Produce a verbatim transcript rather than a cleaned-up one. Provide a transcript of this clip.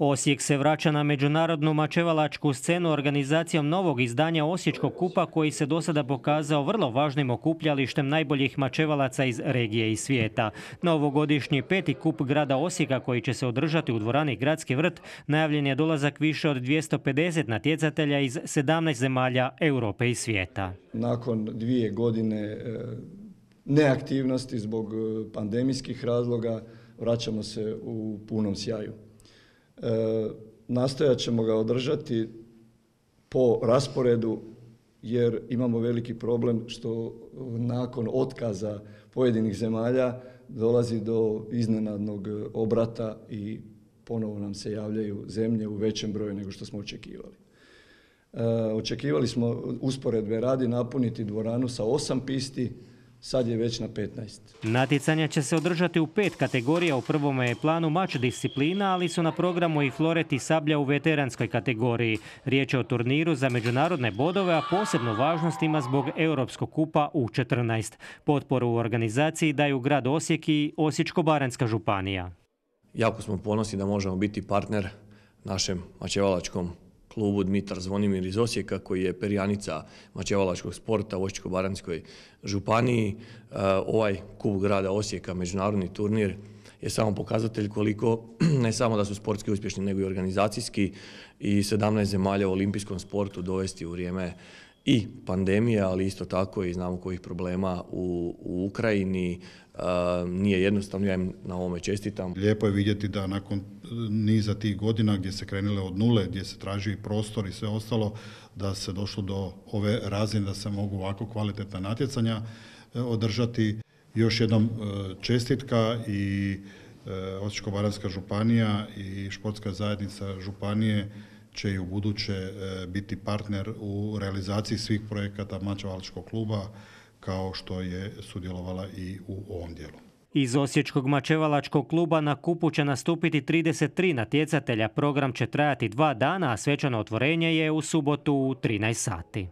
Osijek se vraća na međunarodnu mačevalačku scenu organizacijom novog izdanja Osječkog kupa koji se do sada pokazao vrlo važnim okupljalištem najboljih mačevalaca iz regije i svijeta. Novogodišnji peti kup grada Osijeka koji će se održati u dvorani Gradski vrt najavljen je dolazak više od dvjesto pedeset natjecatelja iz sedamnaest zemalja Europe i svijeta. Nakon dvije godine neaktivnosti zbog pandemijskih razloga vraćamo se u punom sjaju. E, nastojat ćemo ga održati po rasporedu jer imamo veliki problem što nakon otkaza pojedinih zemalja dolazi do iznenadnog obrata i ponovo nam se javljaju zemlje u većem broju nego što smo očekivali. E, očekivali smo usporedbe radi napuniti dvoranu sa osam pisti, sad je već na petnaest. Natjecanja će se održati u pet kategorija. U prvom je planu mač disciplina, ali su na programu i floret i sablja u veteranskoj kategoriji. Riječ je o turniru za međunarodne bodove, a posebnu važnost ima zbog Europskog kupa U četrnaest. Potporu u organizaciji daju grad Osijek i Osječko-baranjska županija. Jako smo ponosni da možemo biti partner našem mačevalačkom klubu Dmitar Zvonimir iz Osijeka koji je perjanica mačevalačkog sporta u Osječko-baranjskoj županiji. Ovaj kup grada Osijeka, međunarodni turnir, je samo pokazatelj koliko ne samo da su sportski uspješni nego i organizacijski i sedamnaest zemalja u olimpijskom sportu dovesti u vrijeme i pandemije, ali isto tako i znamo kojih problema u, u Ukrajini. Uh, nije jednostavno, ja im na ovome čestitam. Lijepo je vidjeti da nakon niza tih godina gdje se krenule od nule, gdje se traži prostor i sve ostalo, da se došlo do ove razine da se mogu ovako kvalitetna natjecanja eh, održati. Još jednom eh, čestitka i eh, Osječko-baranjska županija i športska zajednica županije će i u buduće biti partner u realizaciji svih projekata mačevalačkog kluba kao što je sudjelovala i u ovom dijelu. Iz Osječkog mačevalačkog kluba na kupu će nastupiti trideset tri natjecatelja. Program će trajati dva dana, a svečano otvorenje je u subotu u trinaest sati.